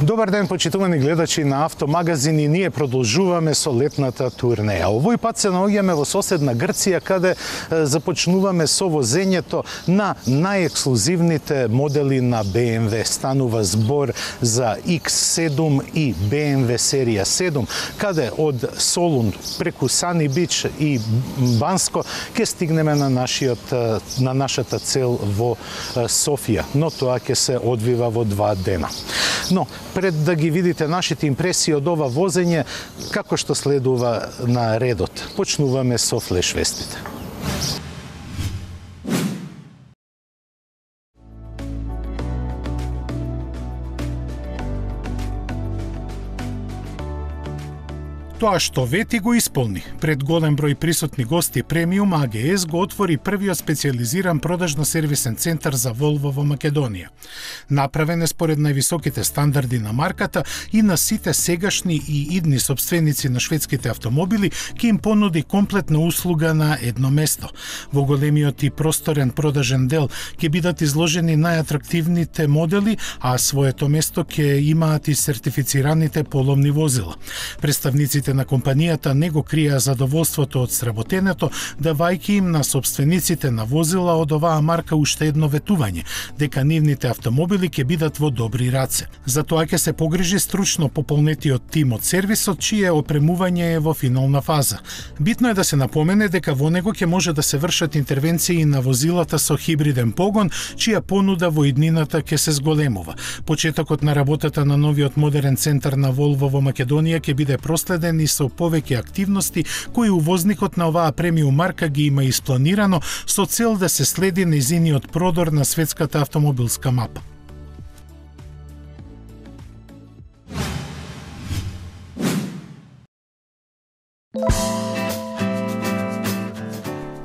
Добар ден, почитувани гледачи на Автомагазин, и ние продолжуваме со летната турнеја. Овој пат се наоѓаме во соседна Грција, каде започнуваме со возењето на најексклузивните модели на BMW. Станува збор за X7 и BMW серија 7, каде од Солун преку Сани Бич и Банско ќе стигнеме на нашата цел во Софија, но тоа ќе се одвива во 2 дена. Но пред да ги видите нашите импресии од ова возење, како што следува на редот, почнуваме со флеш вестите. Тоа што вети го исполни. Пред голем број присутни гости, Премиум АГС го отвори првиот специјализиран продажно-сервисен центар за Волво во Македонија. Направен е според највисоките стандарди на марката и на сите сегашни и идни сопственици на шведските автомобили ќе им понуди комплетна услуга на едно место. Во големиот и просторен продажен дел ќе бидат изложени најатрактивните модели, а своето место ќе имаат и сертифицираните поломни возила. Представниците на компанијата не го криеа задоволството од сработенето, давајќи им на собствениците на возила од оваа марка уште едно ветување, дека нивните автомобили ќе бидат во добри раце. За тоа ќе се погрижи стручно пополнетиот тим од сервисот, чие опремување е во финална фаза. Битно е да се напомене дека во него ќе може да се вршат интервенции на возилата со хибриден погон, чија понуда во иднината ќе се зголемува. Почетокот на работата на новиот модерен центар на Волво во Македонија ќе биде проследен и со повеќе активности кои увозникот на оваа премиум марка ги има испланирано со цел да се следи нејзиниот продор на светската автомобилска мапа.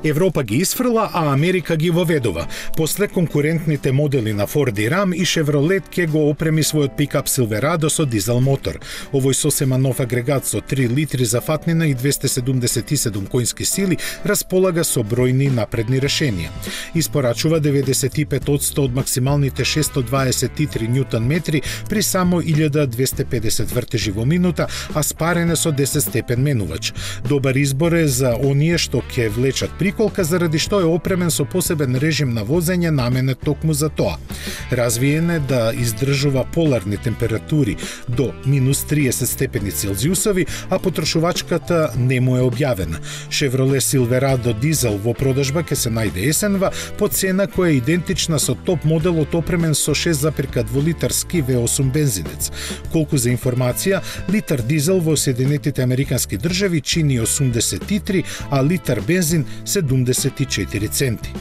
Европа ги исфрла, а Америка ги воведува. После конкурентните модели на Ford и Ram, и Chevrolet ќе го опреми својот пикап Silverado со дизел мотор. Овој сосема нов агрегат со 3 литри за фатнина и 277 коњски сили располага со бројни напредни решенија. Испорачува 95% од максималните 623 ньютон метри при само 1250 вртежи во минута, а спарен е со 10 степен менувач. Добар избор е за оние што ќе влечат приколка, заради што е опремен со посебен режим на возење наменет токму за тоа. Развиен е да издржува поларни температури до минус 30 степени Целзиусови, а потрошувачката не му е објавена. Chevrolet Silverado дизел во продажба ќе се најде есенва по цена која е идентична со топ моделот опремен со 6,2 литарски V8 бензинец. Колку за информација, литар дизел во Соединетите Американски држави чини 83, а литар бензин 74 центи.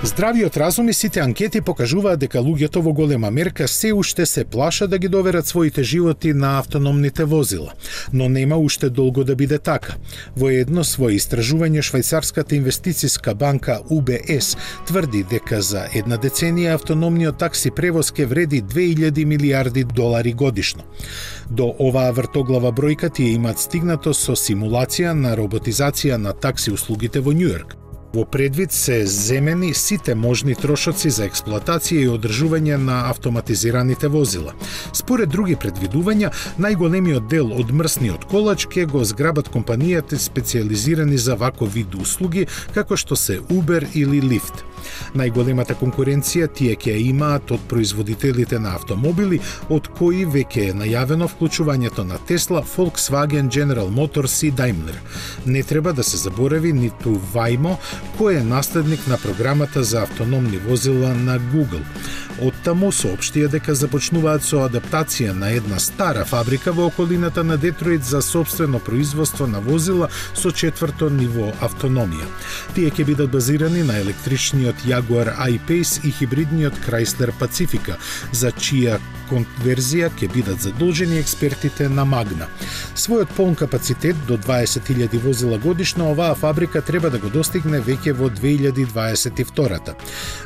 Здравиот разум и сите анкети покажуваат дека луѓето во голема мерка се уште се плашат да ги доверат своите животи на автономните возила. Но нема уште долго да биде така. Во едно своје истражување швајцарската инвестициска банка UBS тврди дека за една деценија автономниот такси превоз ќе вреди 2000 милиарди долари годишно. До оваа вртоглава бројка тие имаат стигнато со симулација на роботизација на такси услугите во Њујорк. Во предвид се земени сите можни трошоци за експлоатација и одржување на автоматизираните возила. Според други предвидувања, најголемиот дел од мрсниот колач ќе го зграбат компанијата специјализирани за ваков вид услуги, како што се Uber или Lyft. Најголемата конкуренција тие ќе имаат од производителите на автомобили, од кои веќе е најавено вклучувањето на Tesla, Volkswagen, General Motors и Daimler. Не треба да се заборави ниту Waymo, кој е наследник на програмата за автономни возила на Google. Оттаму соопштија дека започнуваат со адаптација на една стара фабрика во околината на Детройт за сопствено производство на возила со 4-то ниво автономија. Тие ќе бидат базирани на електричниот хибридниот Jaguar I-Pace и хибридниот Chrysler Pacifica, за чија конверзија ќе бидат задолжени експертите на Магна. Својот полн капацитет до 20.000 возила годишно оваа фабрика треба да го достигне веќе во 2022-та.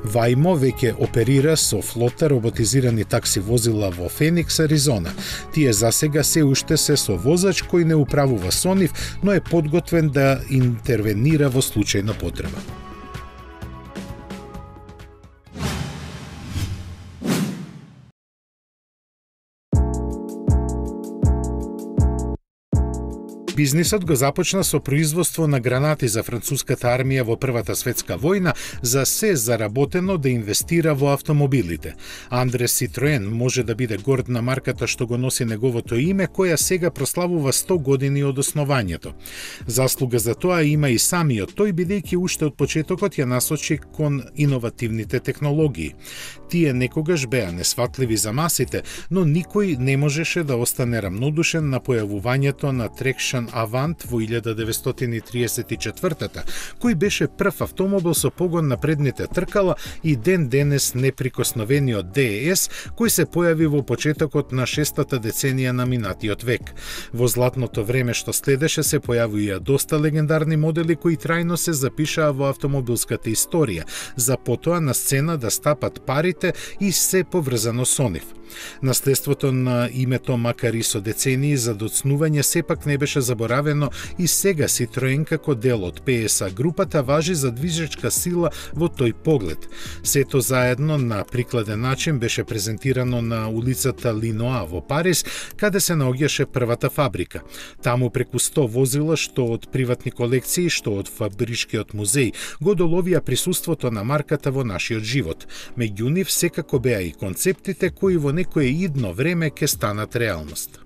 Waymo веќе оперира со флота роботизирани такси возила во Феникс, Аризона. Тие засега се уште се со возач кој не управува со нив, но е подготвен да интервенира во случај на потреба. Бизнисот го започна со производство на гранати за француската армија во Првата светска војна, за се заработено да инвестира во автомобилите. Андре Ситроен може да биде горд на марката што го носи неговото име, која сега прославува 100 години од основањето. Заслуга за тоа има и самиот тој, бидејќи уште од почетокот ја насочи кон иновативните технологии. Тие некогаш беа несватливи за масите, но никој не можеше да остане рамнодушен на појавувањето на Traction Avant во 1934-та, кој беше прв автомобил со погон на предните тркала и ден денес неприкосновениот DES, кој се појави во почетокот на 6-та деценија на минатиот век. Во златното време што следеше се појавија доста легендарни модели кои трајно се запишаа во автомобилската историја, за потоа на сцена да стапат парите и се поврзано со нив. Наследството на името, макар и со децении за доцнување, сепак не беше заборавено и сега Citroen како дел од PSA групата важи за движечка сила во тој поглед. Сето заедно на прикладен начин беше презентирано на улицата Линоа во Париз, каде се наоѓаше првата фабрика. Таму преку 100 возила, што од приватни колекции, што од фабричкиот музеј, го доловија присуството на марката во нашиот живот. Меѓу нив секако беа и концептите кои во некое идно време ќе станат реалност.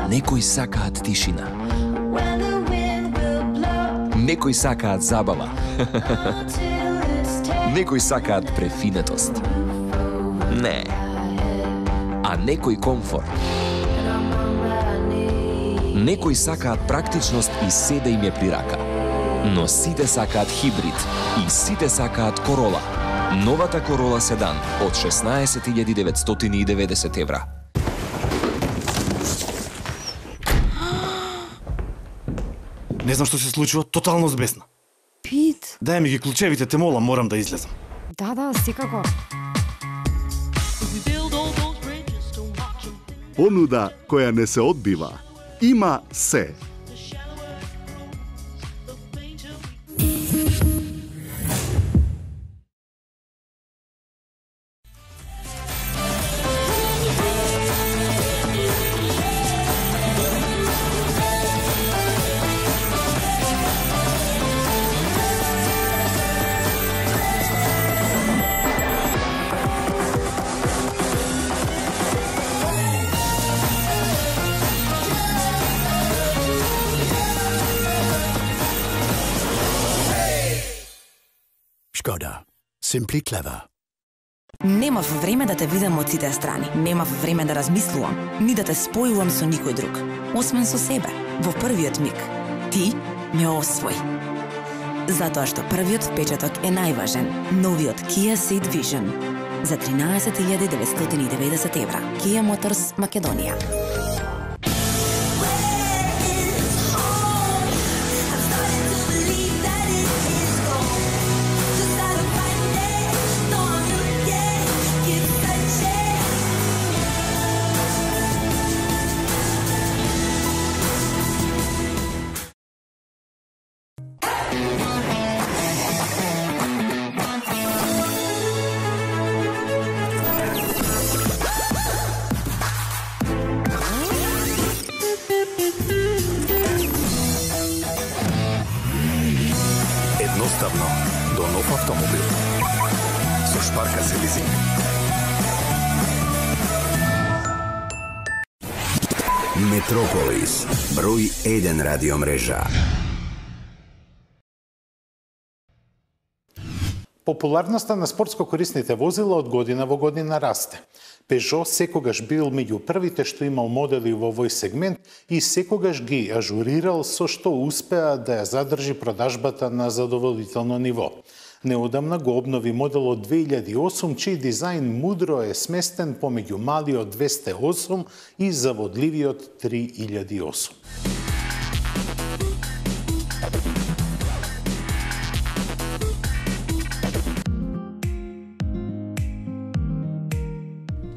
Некои сакаат тишина. Некои сакаат забава. Некои сакаат префинетост. Не. А некои комфорт. Некои сакаат практичност и се да им е при рака. Но сите сакаат хибрид и сите сакаат Corolla. Новата Corolla седан од 16.990 евра. Не знам што се случува, тотално збесна. Пит. Дај ми ги клучевите, те молам, морам да излезам. Да, секако. Понуда која не се одбива, има се. Škoda. Simply clever. Немав време да те видам од сите страни. Немав време да размислувам, ни да те спојувам со никој друг. Освен со себе, во првиот миг. Ти ме освои. Затоа што првиот впечаток е најважен. Новиот Kia Ceed Vision за 13.990 евра. Kia Motors, Македонија. Едноставно до нов автомобил. Со Шпарка се лизинг. Метрополис, број 1 радиомрежа. Популарноста на спортско корисните возила од година во година расте. Peugeot секогаш бил меѓу првите што имал модели во овој сегмент и секогаш ги ажурирал со што успеа да ја задржи продажбата на задоволително ниво. Неодамна го обнови модел од 2008, чиј дизајн мудро е сместен помеѓу малиот 208 и заводливиот 3008.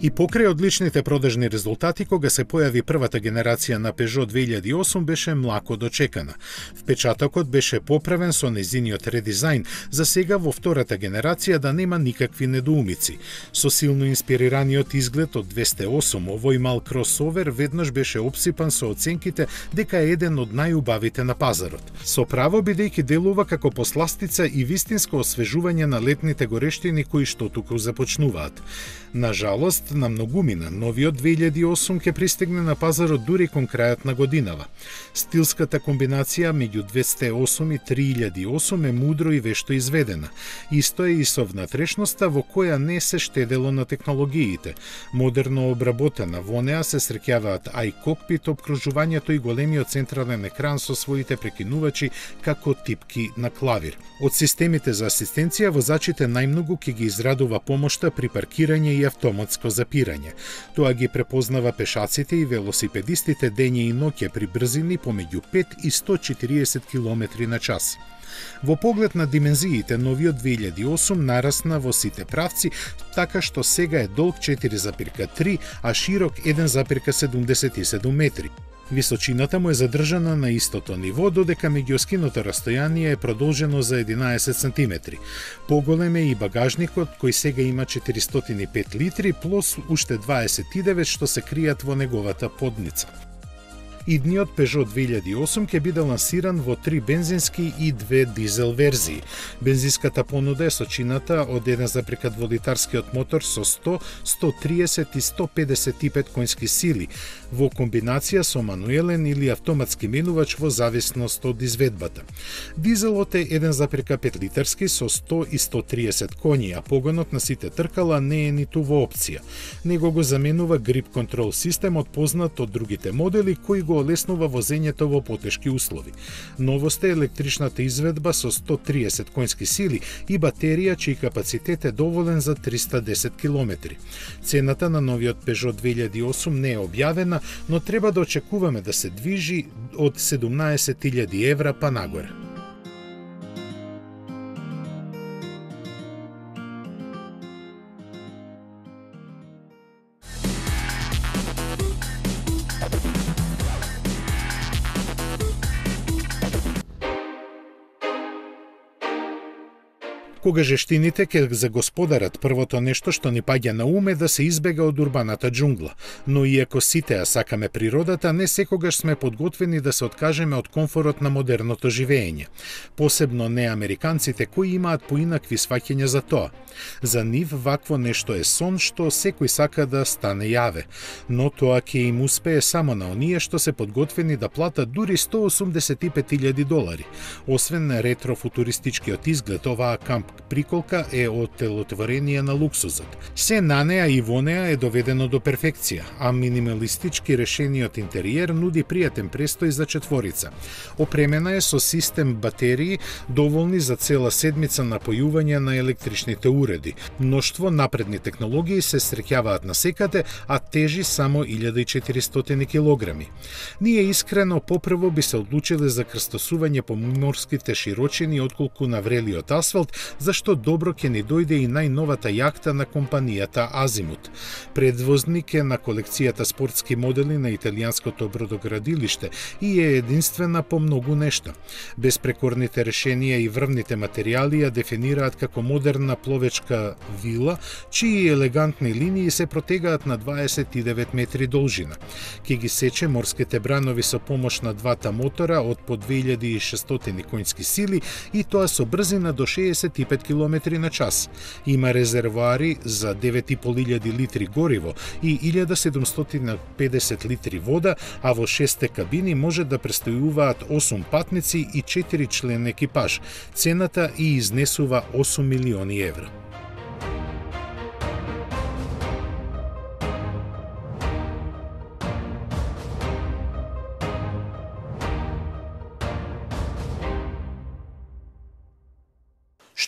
И покрај одличните продажни резултати, кога се појави првата генерација на Peugeot 2008, беше млако дочекана. Впечатокот беше поправен со незиниот редизајн, за сега во втората генерација да нема никакви недоумици. Со силно инспирираниот изглед од 208, овој мал кросовер веднаш беше обсипан со оценките дека е еден од најубавите на пазарот. Со право, бидејќи делува како посластица и вистинско освежување на летните горештини кои што туку започнуваат. На жалост, на многумина, новиот 2008 ќе пристигне на пазарот дури кон крајот на годинава. Стилската комбинација меѓу 208 и 3008 е мудро и вешто изведена. Исто е и со внатрешноста во која не се штедело на технологиите. Модерно обработена, во неа се среќаваат iCockpit, обкружувањето и големиот централен екран со своите прекинувачи како типки на клавир. Од системите за асистенција, возачите најмногу ќе ги израдува помошта при паркирање и автоматско запирање. Тоа ги препознава пешаците и велосипедистите дење и ноќе при брзини помеѓу 5 и 140 км на час. Во поглед на димензиите, новиот 2008 нарасна во сите правци, така што сега е долг 4,3, а широк 1,77 метри. Височината му е задржана на истото ниво, додека меѓуоскиното растојание е продолжено за 11 см. Поголем е и багажникот, кој сега има 405 литри, плюс уште 29 што се кријат во неговата подница. Идниот Peugeot 2008 ќе биде лансиран во 3 бензински и 2 дизел верзии. Бензинската понуда е сочината од 1,2 литарскиот мотор со 100, 130 и 155 конски сили, во комбинација со мануелен или автоматски менувач во зависност од изведбата. Дизелот е 1,5 литарски со 100 и 130 коњи, а погонот на сите тркала не е ниту во опција. Него го заменува грип контрол системот познат од другите модели кои го олеснува возењето во потешки услови. Новост е електричната изведба со 130 конски сили и батерија чиј капацитет е доволен за 310 км. Цената на новиот Peugeot 2008 не е објавена, но треба да очекуваме да се движи од 17.000 евра па нагоре. Кога жештините ќе загосподарат, првото нешто што ни паѓа на ум е да се избега од урбаната џунгла. Но иако сите ја сакаме природата, не секогаш сме подготвени да се откажеме од комфорот на модерното живење. Посебно не американците кои имаат поинакви сваќања за тоа. За нив вакво нешто е сон што секој сака да стане јаве, но тоа ќе им успее само на оние што се подготвени да платат дури $185,000 $. Освен ретро-футуристичкиот изглед, оваа камп приколка е оттелотворение на луксузот. Се на неа и во неа е доведено до перфекција, а минималистички решениот интериер нуди пријатен престој за четворица. Опремена е со систем батерии доволни за цела седмица напојување на електричните уреди. Мноштво напредни технологии се среќаваат насекаде, а тежи само 1400 килограми. Ние искрено попрво би се одлучиле за крстосување по морските широчини отколку на врелиот асфалт, зашто добро ќе ни дојде и најновата јахта на компанијата Азимут. Предвозник е на колекцијата спортски модели на италијанското бродоградилиште и е единствена по многу нешта. Безпрекорните решенија и врвните материјали ја дефинираат како модерна пловечка вила, чии елегантни линии се протегаат на 29 метри должина. Ке ги сече морските бранови со помош на двата мотора од по 2600 конски сили и тоа со брзина до 65 105 км на час. Има резервоари за 9.500 литри гориво и 1750 литри вода, а во 6 кабини може да престојуваат 8 патници и 4 член екипаж. Цената и изнесува 8 милиони евра.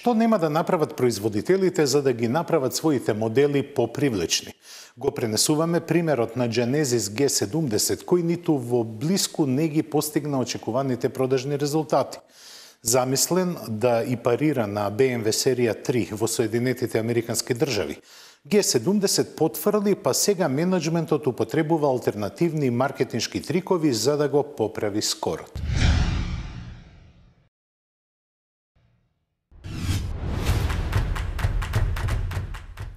Што нема да направат производителите за да ги направат своите модели попривлечни? Го пренесуваме примерот на Genesis G70, кој ниту во блиску не ги постигна очекуваните продажни резултати. Замислен да и парира на BMW серија 3 во Соединетите Американски држави. G70 потврди, па сега менеджментот употребува алтернативни маркетиншки трикови за да го поправи скорот.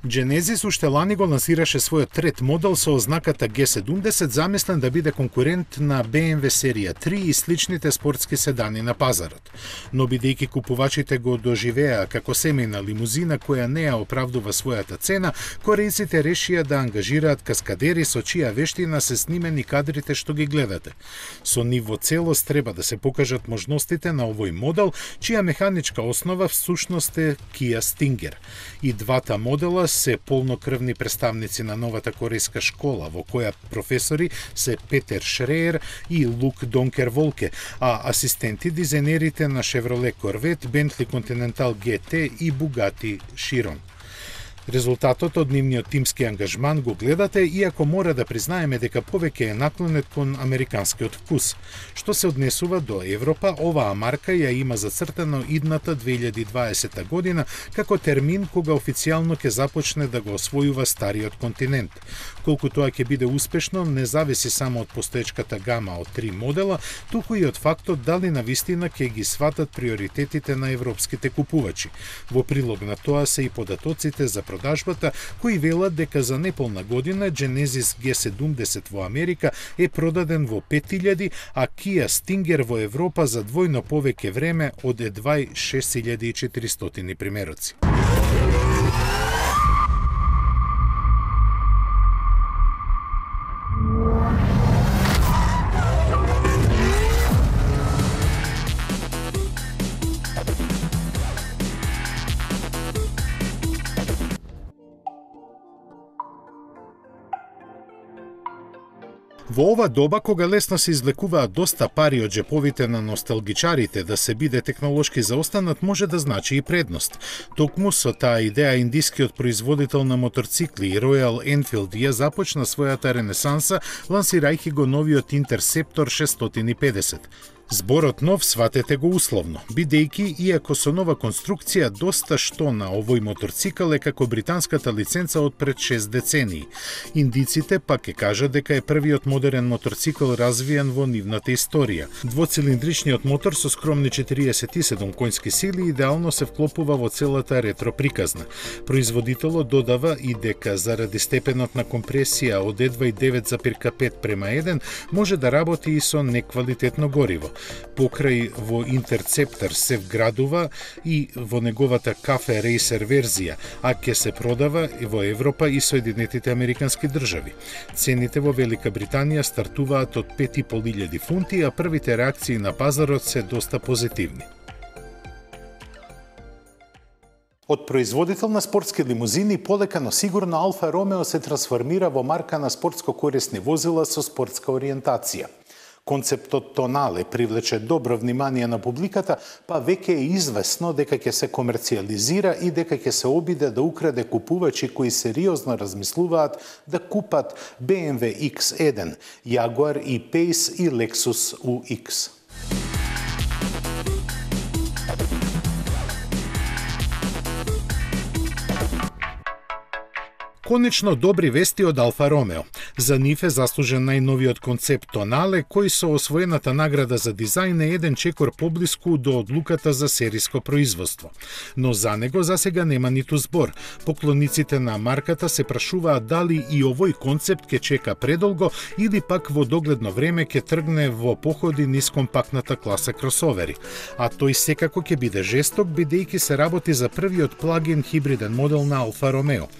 Genesis уште лани го лансираше својот трет модел со ознаката G70, замислен да биде конкурент на BMW серија 3 и сличните спортски седани на пазарот. Но бидејќи купувачите го доживеа како семејна лимузина која не ја оправдува својата цена, корејците решија да ангажираат каскадери со чија вештина се снимени кадрите што ги гледате. Со нив во целост треба да се покажат можностите на овој модел, чија механичка основа всушност е Kia Stinger. И двата модела се полнокрвни представници на новата корејска школа, во која професори се Петер Шреер и Лук Донкер Волке, а асистенти дизајнерите на Chevrolet Corvette, Bentley Continental GT и Bugatti Chiron. Резултатот од нивниот тимски ангажман го гледате, иако мора да признаеме дека повеќе е наклонет кон американскиот вкус. Што се однесува до Европа, оваа марка ја има зацртано идната 2020 година како термин кога официјално ќе започне да го освојува стариот континент. Колку тоа ќе биде успешно не зависи само од постоечката гама од 3 модела, туку и од фактот дали навистина ќе ги сватат приоритетите на европските купувачи. Во прилог на тоа се и податоците за продажбата, кои велат дека за неполна година Genesis G70 во Америка е продаден во 5000, а Kia Stinger во Европа за двојно повеќе време од едва 6400 примероци. Во ова доба, кога лесно се извлекуваат доста пари од џеповите на носталгичарите, да се биде технолошки заостанат може да значи и предност. Токму со таа идеја индискиот производител на моторцикли Royal Enfield ја започна својата ренесанса, лансирајќи го новиот Interceptor 650. Зборот нов сватете го условно, бидејќи, иако со нова конструкција, доста што на овој моторцикл е како британската лиценца од пред 6 децении. Индиците пак ќе кажат дека е првиот модерен моторцикл развиен во нивната историја. Двоцилиндричниот мотор со скромни 47 конски сили идеално се вклопува во целата ретро приказна. Производителот додава и дека заради степенот на компресија од едва 9,5:1 може да работи и со неквалитетно гориво. Покрај во Interceptor се вградува и во неговата Cafe Racer верзија, а ќе се продава и во Европа и Соединетите Американски држави. Цените во Велика Британија стартуваат од 5.500 фунти, а првите реакции на пазарот се доста позитивни. Од производител на спортски лимузини, полека но сигурно Алфа Ромео се трансформира во марка на спортско-корисни возила со спортска ориентација. Концептот Тонале привлече добро внимание на публиката, па веќе е известно дека ќе се комерцијализира и дека ќе се обиде да украде купувачи кои сериозно размислуваат да купат BMW X1, Jaguar E-Pace и Lexus UX. Конечно, добри вести од Алфа Ромео. За нив е заслужен најновиот концепт Тонале, кој со освоената награда за дизајн е еден чекор поблиску до одлуката за сериско производство. Но за него засега нема ниту збор. Поклониците на марката се прашуваат дали и овој концепт ќе чека предолго или пак во догледно време ќе тргне во походи низ компактната класа кросовери. А тој секако ќе биде жесток, бидејќи се работи за првиот плагин хибриден модел на Алфа Ромео.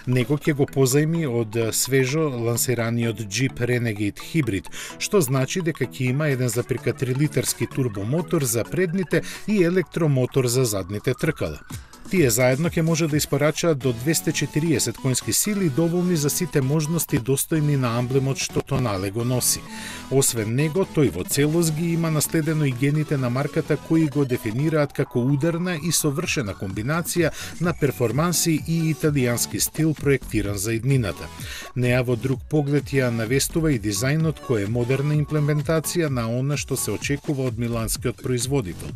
Него ќе го позајми од свежо лансираниот Jeep Renegade Hybrid, што значи дека ќе има 1,3 литерски турбомотор за предните и електромотор за задните тркала. Тие заедно ќе може да испорачаат до 240 конски сили, доволни за сите можности достојни на амблемот што Тонале го носи. Освен него, тој во целост ги има наследено и гените на марката кои го дефинираат како ударна и совршена комбинација на перформанси и италијански стил проектиран за иднината. Неа во друг поглед ја навестува и дизајнот кој е модерна имплементација на она што се очекува од миланскиот производител.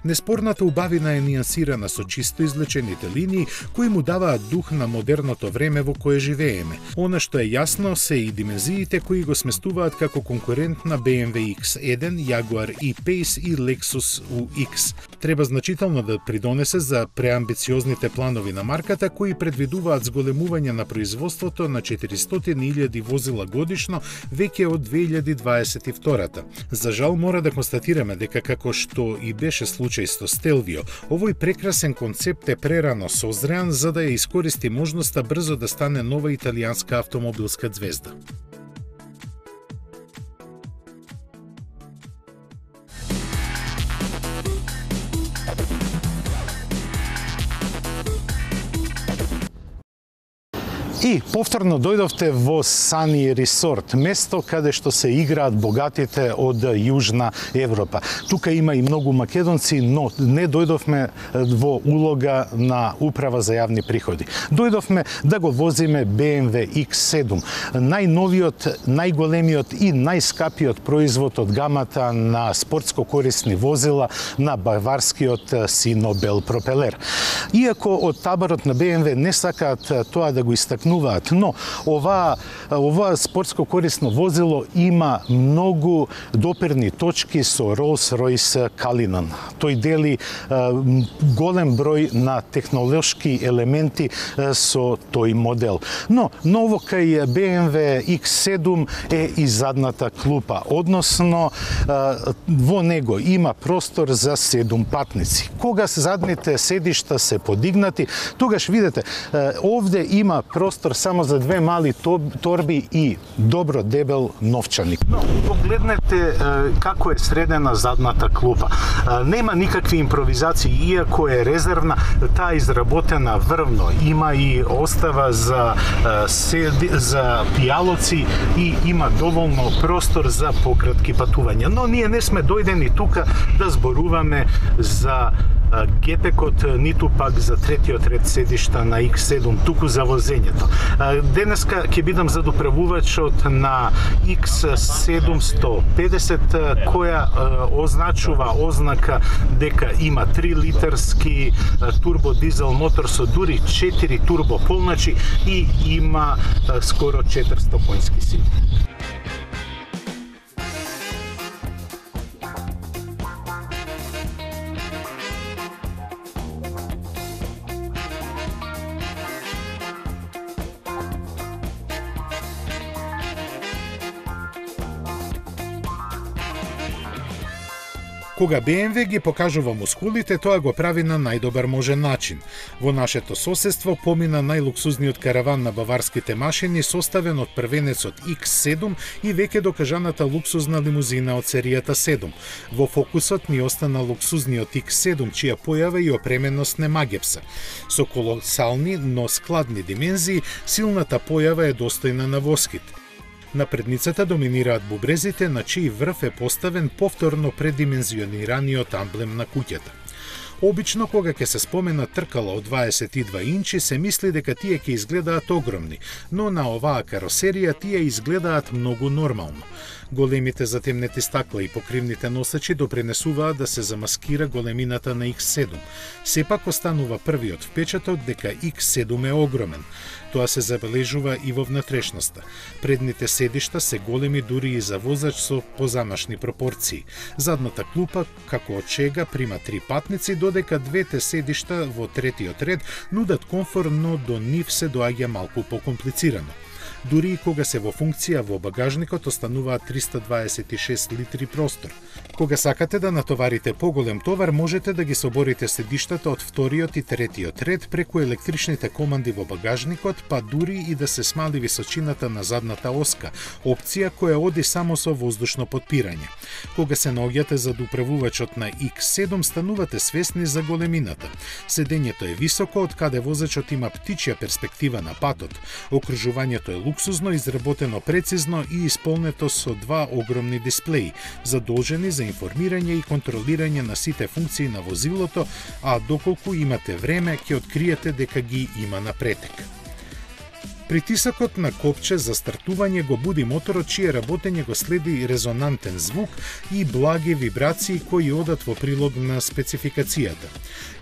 Неспорната убавина е нијансирана со чисто излечените линии кои му даваат дух на модерното време во кое живееме. Она што е јасно се и димензиите кои го сместуваат како конкурент на BMW X1, Jaguar E-Pace и Lexus UX. Треба значително да придонесе за преамбициозните планови на марката кои предвидуваат зголемување на производството на 400.000 возила годишно веќе од 2022. За жал мора да констатираме дека како што и беше случај со Stelvio, овој прекрасен концепт е прерано созреан за да ја искористи можноста брзо да стане нова италијанска автомобилска ѕвезда. И повторно дојдовте во Сани Ресорт, место каде што се играат богатите од Јужна Европа. Тука има и многу македонци, но не дојдовме во улога на управа за јавни приходи. Дојдовме да го возиме BMW X7, најновиот, најголемиот и најскапиот производ од гамата на спортско корисни возила на баварскиот Sinobel пропелер. Иако од таборот на BMW не сакаат тоа да го истакнуваат, но ова спортско корисно возило има многу допирни точки со Rolls-Royce Cullinan. Тој дели голем број на технолошки елементи со тој модел. Но ново кај BMW X7 е и задната клупа, односно во него има простор за 7 патници. Кога задните седишта се подигнати, тогаш видите, овде има простор само за 2 мали торби и добро дебел новчаник. Но погледнете како е средена задната клупа. Нема никакви импровизации, иако е резервна, таа изработена врвно. Има и остава за пијалоци и има доволно простор за пократки патувања. Но ние не сме дојдени тука да зборуваме за гепекот, ниту пак за третиот ред седишта на X7, туку за возењето. Денеска ќе бидам задуправувачот на X750, која означува ознака дека има 3 литерски турбодизел мотор со дури 4 турбополначи и има скоро 400 конски сили. Кога BMW ги покажува мускулите, тоа го прави на најдобар можен начин. Во нашето соседство помина најлуксузниот караван на баварските машини, составен од првенецот X7 и веќе докажаната луксузна лимузина од серијата 7. Во фокусот ни остана луксузниот X7, чија појава и опременост не магепса. Со колосални, но складни димензии, силната појава е достојна на воскит. На предницата доминираат бубрезите, на чиј врв е поставен повторно предимензионираниот амблем на куќата. Обично, кога ќе се спомена тркала од 22 инчи, се мисли дека тие ќе изгледаат огромни, но на оваа каросерија тие изгледаат многу нормално. Големите затемнети стакла и покривните носачи допринесуваат да се замаскира големината на X7. Сепак останува првиот впечаток дека X7 е огромен. Тоа се забележува и во внатрешноста. Предните седишта се големи дури и за возач со позамашни пропорции. Задната клупа, како од чега, прима 3 патници, додека двете седишта во третиот ред нудат комфорт, но до нив се доаѓа малку покомплицирано. Дури и кога се во функција во багажникот остануваат 326 литри простор. Кога сакате да натоварите поголем товар, можете да ги соборите седиштата од вториот и третиот ред преку електричните команди во багажникот, па дури и да се смали височината на задната оска, опција која оди само со воздушно потпирање. Кога се наоѓате зад управувачот на X7, станувате свесни за големината. Седењето е високо, од каде возачот има птичја перспектива на патот. Окружувањето е луксузно, изработено прецизно и исполнето со 2 огромни дисплеи, задолжени за информирање и контролирање на сите функции на возилото, а доколку имате време, ќе откриете дека ги има на претек. Притисокот на копче за стартување го буди моторот, чие работење го следи резонантен звук и благи вибрации кои одат во прилог на спецификацијата.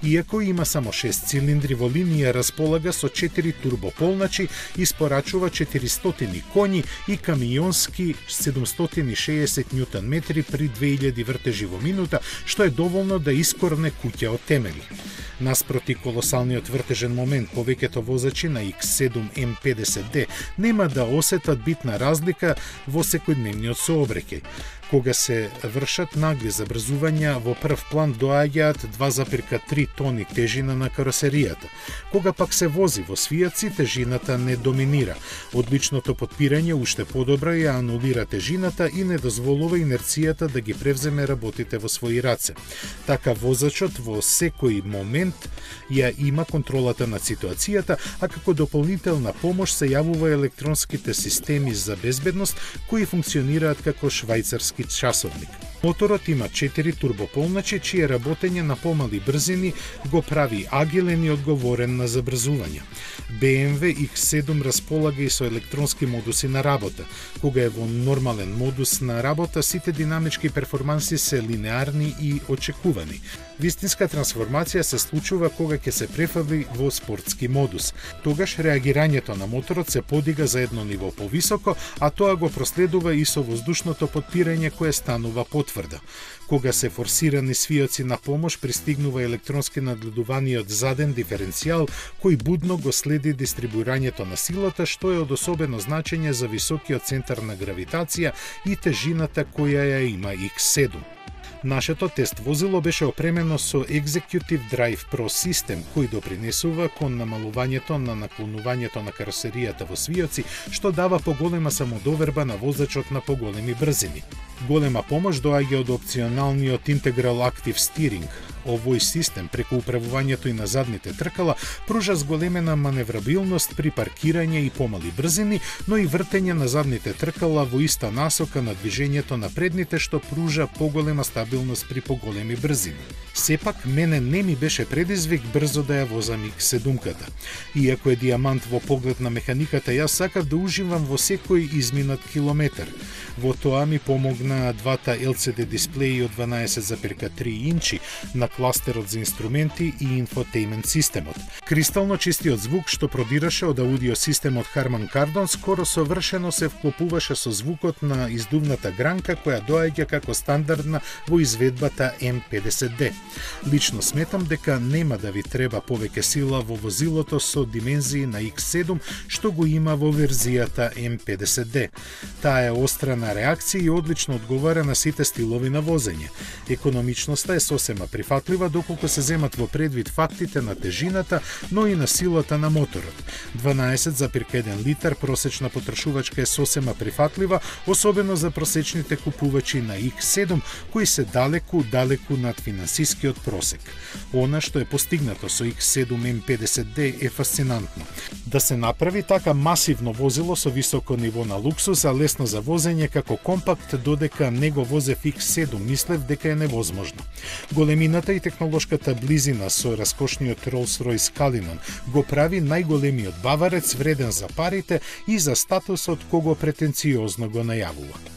Иако има само 6 цилиндри во линија, располага со 4 турбополначи, испорачува 400 коњи и камионски 760 Нм при 2000 вртежи во минута, што е доволно да искорне куќа од темели. Наспроти колосалниот вртежен момент, повеќето возачи на X7 M50D нема да осетат битна разлика во секојдневниот сообраќај. Кога се вршат нагли забрзувања, во прв план доаѓаат 2,3 тони тежина на каросеријата. Кога пак се вози во свијаци, тежината не доминира. Одличното потпирање уште подобро ја анулира тежината и не дозволува инерцијата да ги превземе работите во своји раце. Така возачот во секој момент ја има контролата на ситуацијата, а како дополнителна помош се јавува електронските системи за безбедност кои функционираат како швајцарски часовник. Моторот има 4 турбополначи, чие работење на помали брзини го прави агилен и одговорен на забрзување. BMW X7 располага и со електронски модуси на работа. Кога е во нормален модус на работа, сите динамички перформанси се линеарни и очекувани. Вистинска трансформација се случува кога ќе се префрли во спортски модус. Тогаш реагирањето на моторот се подига за едно ниво повисоко, а тоа го проследува и со воздушното потпирање кое станува потврдо. Кога се форсирани свиоци на помош, пристигнува електронски нагледуваниот заден диференцијал кој будно го следи дистрибуирањето на силата, што е од особено значење за високиот центар на гравитација и тежината која ја има X7. Нашето тест возило беше опремено со Executive Drive Pro систем, кој допринесува кон намалувањето на наклонувањето на каросеријата во свиоци, што дава поголема самодоверба на возачот на поголеми брзини. Голема помош доаѓа од опционалниот Integral Active Steering. Овој систем, преку управувањето и на задните тркала, пружа зголемена маневрабилност при паркирање и помали брзини, но и вртење на задните тркала во иста насока на движењето на предните, што пружа поголема стабилност при поголеми брзини. Сепак, мене не ми беше предизвик брзо да ја возам X7-ката. Иако е диамант во поглед на механиката, јас сакав да уживам во секој изминат километар. Во тоа ми помогна двата LCD дисплеи од 12,3 инчи на кластерот за инструменти и инфотеймент системот. Кристално чистиот звук што продираше од аудио системот Harman Kardon скоро совршено се вклопуваше со звукот на издувната гранка која доаѓа како стандардна во изведбата M50D. Лично сметам дека нема да ви треба повеќе сила во возилото со димензии на X7 што го има во верзијата M50D. Таа е остра на реакција и одлично одговара на сите стилови на возење. Економичноста е сосема прифатлива доколку се земат во предвид фактите на тежината, но и на силата на моторот. 12,1 литар просечна потрошувачка е сосема прифатлива, особено за просечните купувачи на X7 кои се далеку над финансискиот просек. Она што е постигнато со X7 M50D е фасцинантно. Да се направи така масивно возило со високо ниво на луксус, а лесно за возење како компакт, додека не го возев X7, мислев дека е невозможно. Големината и технолошката близина со раскошниот Rolls-Royce Cullinan го прави најголемиот баварец, вреден за парите и за статусот кого претенциозно го најавува.